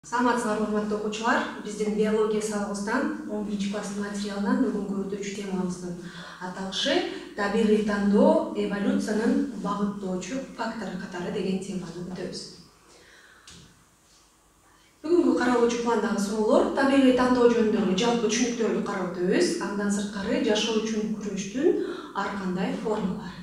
Саламатсыздарбы, урматтуу окуучулар. Биздин биология сабагыбыздан 11 класстын материалынан бүгүнкү өтүүчү темабыздын аталышы табигый тандоо эволюциянын багыттоочу фактору катары деген теманы өтөбүз. Бүгүнкү каралуучу пландагы суроолор табигый тандоо жөнүндөгү жалпы түшүнүктөрдү карап өтөбүз. Андан сырткары жашоо үчүн күрөштүн ар кандай формалары.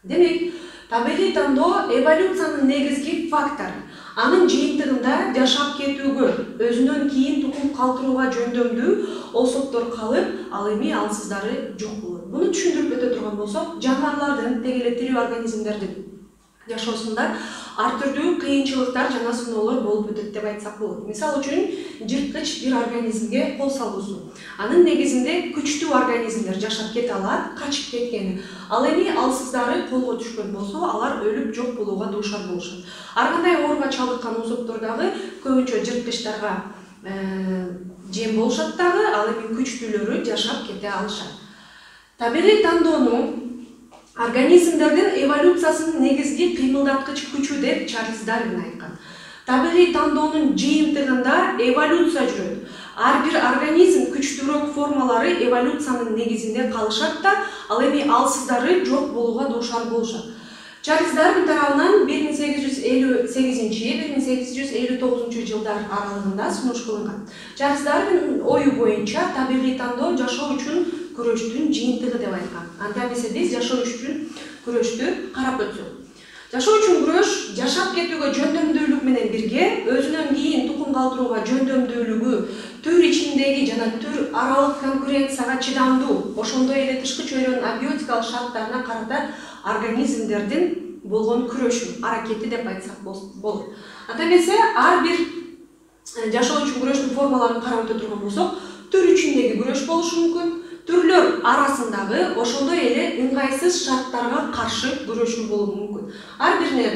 Демек, табигый тандоо эволюциянын негизги фактору. Анын жыйынтыгында жашап кетүүгө, өзүнөн кийин тукум калтырууга жөндөмдүү особдор калып, ал эми алсыздары жок болот. Муну түшүндүрүп өтө турган болсок, жаныбарлардын, теги эле тирүү организмдердин жашоосунда ар түрдүү кыйынчылыктар жана сыноолор болуп өтөт деп айтсак болот. Мисалы үчүн, жырткыч бир организмге кол салуусу. Анын негизинде күчтүү организмдер жашап кете алат, качып кеткени. Ал эми алсыздары колго түшкөн болсо, алар өлүп жок болууга дуушар болушат. Ар кандай ооруга чалдыккан особдор дагы көбүнчө жырткычтарга жем болушат дагы, ал эми күчтүүлөрү жашап кете алышат. Табигый тандоонун организмдердин эволюциясынын негизги кыймылдаткыч күчү деп Чарльз Дарвин айткан. Табигый тандоонун жыйынтыгында эволюция жүрөт. Ар бир организм күчтүүрөөк формалары эволюциянын негизинде калышат да, ал эми алсыздары жок болууга дуушар болушат. Чарльз Дарвин тарабынан 1858-1859 жылдар аралыгында сунуш кылынган. Чарльз Дарвин ою боюнча табигый тандоо жашоо үчүн күрөштүн жыйынтыгы деп айткан. Анда эмесе биз жашоо үчүн күрөштү карап өтсөк. Жашоо үчүн күрөш жашап кетүүгө жөндөмдүүлүк менен бирге, өзүнөн кийин тукум калтырууга жөндөмдүүлүгү, түр ичиндеги жана түр аралык конкуренцияга чыдамдуу, ошондой эле тышкы чөйрөнүн абиотикалык шарттарына карата организмдердин болгон күрөшү, аракети деп айтсак болот. Анда эмесе ар бир жашоо үчүн күрөштүн формаларын карап өтө турган болсок, түр ичиндеги күрөш болушу мүмкүн, түрлөр арасындагы ошондой эле ыңгайсыз шарттарга каршы күрөшүү болушу мүмкүн. Ар бирине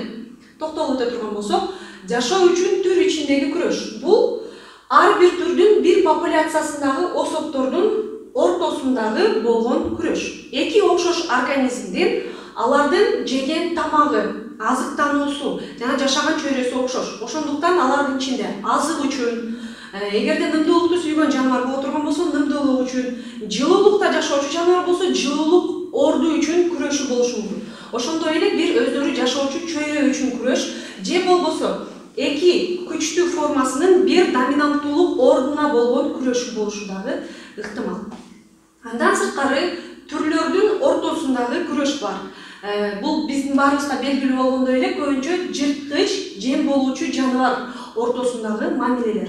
токтолуп өтө турган болсок, жашоо үчүн түр ичиндеги күрөш бул ар бир түрдүн бир популяциясындагы особдордун ортосундагы болгон күрөш. Эки окшош организмдин алардын жеген тамагы, азыктануусу жана жашаган чөйрөсү окшош. Ошондуктан алардын ичинде азык үчүн, эгерде нымдуулукту сүйгөн жаныбар боло турган болсо, нымдуулук үчүн, жылуулукта жашоочу жаныбар болсо, жылуулук орду үчүн күрөшү болушу мүмкүн. Ошондой эле бир өздөрү жашоочу чөйрө үчүн күрөш, же болбосо эки күчтүү формасынын бир доминанттуулук ордуна болгон күрөшү болушу дагы ыктымал. Андан сырткары түрлөрдүн ортосундагы күрөш бар. Бул биздин баарыбызга белгилүү болгондой эле көбүнчө жырткыч, жем болуучу жаныбар ортосундагы мамилелер.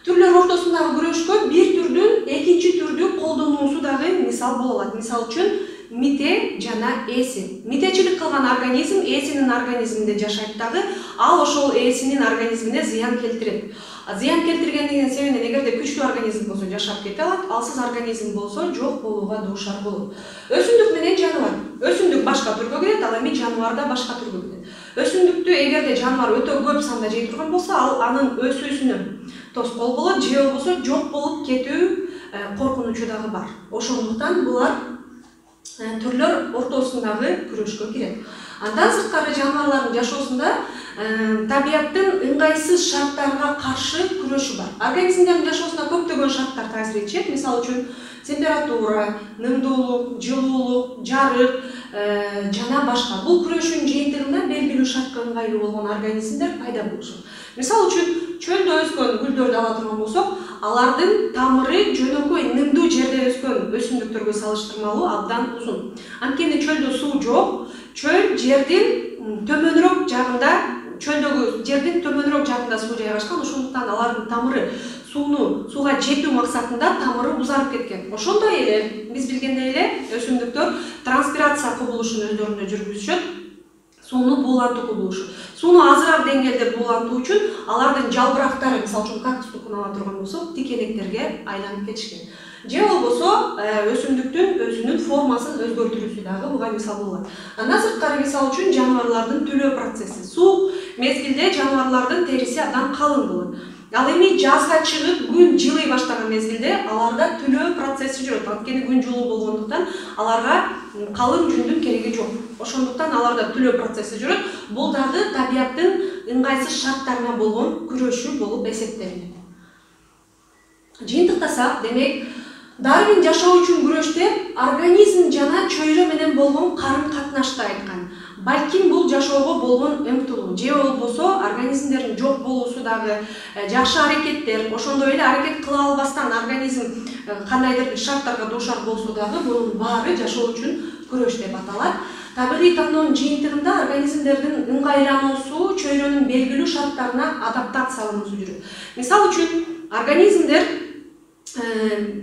Түрлөр ортосундагы күрөшкө бир түрдүн экинчи түрдү колдонуусу дагы мисал боло алат. Мисалы үчүн мите жана ээси. Митечилик кылган организм ээсинин организминде жашайт дагы, ал ошол ээсинин организмине зыян келтирет. Зыян келтиргендигинин себебинен эгерде күчтүү организм болсо жашап кете алат, алсыз организм болсо жок болууга дуушар болот. Өсүмдүк менен жаныбар. Өсүмдүк башка түргө кирет, ал эми жаныбар да башка түргө кирет. Өсүмдүктү эгерде жаныбар өтө көп санда жей турган болсо, ал анын өсүүсүнө тоскоол болот, же болбосо жок болуп кетүү коркунучу дагы бар. Ошондуктан булар түрлөр ортосундагы күрөшкө кирет. Андан сырткары жаныбарлардын жашоосунда табияттын ыңгайсыз шарттарга каршы күрөшү бар. Организмдердин жашоосуна көптөгөн шарттар таасир этишет. Мисалы үчүн температура, нымдуулук, жылуулук, жарык жана башка. Бул күрөшүн жыйынтыгында белгилүү шартка ыңгайлуу болгон организмдер пайда болушат. Мисалы үчүн чөлдө өскөн гүлдөрдү ала турган болсок, алардын тамыры жөнөкөй нымдуу жерде өскөн өсүмдүктөргө салыштырмалуу абдан узун. Анткени чөлдө суу жок, чөл жердин төмөнүрөөк жагында, чөлдөгү жердин төмөнүрөөк жагында суу жайгашкан, ошондуктан алардын тамыры сууга жетүү максатында тамыры узарып кеткен. Ошондой эле биз билгендей эле өсүмдүктөр транспирация кубулушун өздөрүндө жүргүзүшөт. Сууну буулантуу кубулушу. Сууну азыраак деңгээлде буулантуу үчүн алардын жалбырактары, мисалы үчүн кактустукун ала турган болсок, тикенектерге айланып кетишкен. Же болбосо өсүмдүктүн өзүнүн формасын өзгөртүүсү дагы буга мисал болот. Андан сырткары мисалы үчүн жаныбарлардын түлөө процесси. Суук мезгилде жаныбарлардын териси абдан калың болот. Ал эми жазга чыгып күн жылый баштаган мезгилде аларда түлөө процесси жүрөт. Анткени күн жылуу болгондуктан аларга калың жүндүн кереги жок. Ошондуктан аларда түлөө процесси жүрөт. Бул дагы табияттын ыңгайсыз шарттарына болгон күрөшүү болуп эсептелинет. Жыйынтыктасак, демек, Дарвин жашоо үчүн күрөштө организм жана чөйрө менен болгон карым-катнашты айткан. Балким бул жашоого болгон умтулуу, же болбосо организмдердин жок болуусу дагы, жакшы аракеттер, ошондой эле аракет кыла албастан организм кандайдыр бир шарттарга дуушар болсо дагы бунун баары жашоо үчүн күрөш деп аталат. Табигый тандоонун жыйынтыгында организмдердин ыңгайлануусу чөйрөнүн белгилүү шарттарына адаптациялануусу жүрөт. Мисалы үчүн организмдер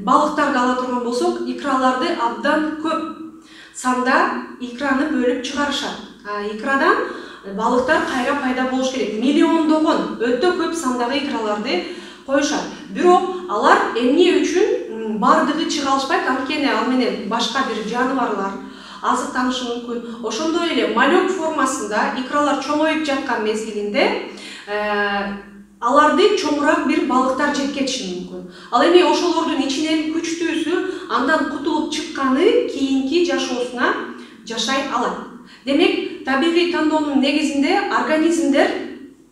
балыктарды ала турган болсок, икраларды абдан көп санда икраны бөлүп чыгарышат. Икрадан балыктар кайра пайда болуш керек. Миллиондогон өтө көп сандагы икраларды коюшат. Бирок алар эмне үчүн бардыгы чыга алышпайт, анткени ал менен башка бир жаныбарлар азыктанышы мүмкүн. Ошондой эле малек формасында икралар чоңоюп жаткан мезгилинде аларды чоңураак бир балыктар жеп кетиши мүмкүн. Ал эми ошолордун ичинен күчтүүсү андан кутулуп чыкканы кийинки жашоосуна жашай алат. Демек, табигый тандоонун негизинде организмдер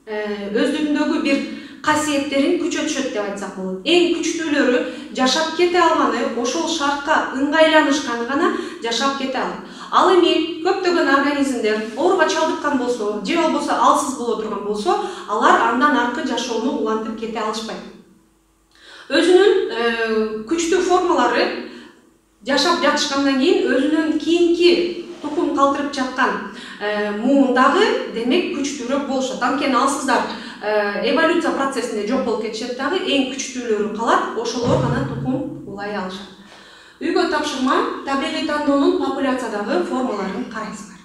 өздүгүндөгү бир касиеттерин күчөтүшөт деп айтсак болот. Эң күчтүүлөрү жашап кете алганы, ошол шартка ыңгайланышканы гана жашап кете алат. Ал эми көптөгөн организмдер ооруга чалдыккан болсо, же болбосо алсыз боло турган болсо, алар андан аркы жашоону улантып кете алышпайт. Өзүнүн күчтүү формалары жашап жатышкандан кийин өзүнүн кийинки тукум калтырып жаткан муундагы демек күчтүүрөөк болушат. Анткени алсыздар эволюция процессинде жок болуп кетишет дагы, эң күчтүүлөрү калат, ошолор гана тукум улай алышат. Үйгө тапшырма, табигый тандоонун популяциядагы формаларын карайсыздар.